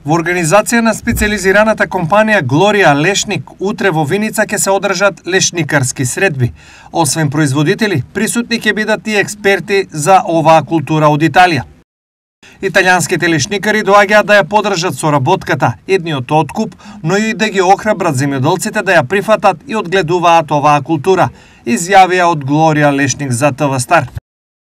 Во организација на специализираната компанија Глорија Лешник, утре во Виница ќе се одржат лешникарски средби. Освен производители, присутни ќе бидат и експерти за оваа култура од Италија. Италијанските лешникари доаѓаат да ја поддржат соработката, едниот откуп, но и да ги охрабрат земјоделците да ја прифатат и одгледуваат оваа култура, изјавија од Глорија Лешник за ТВ Стар.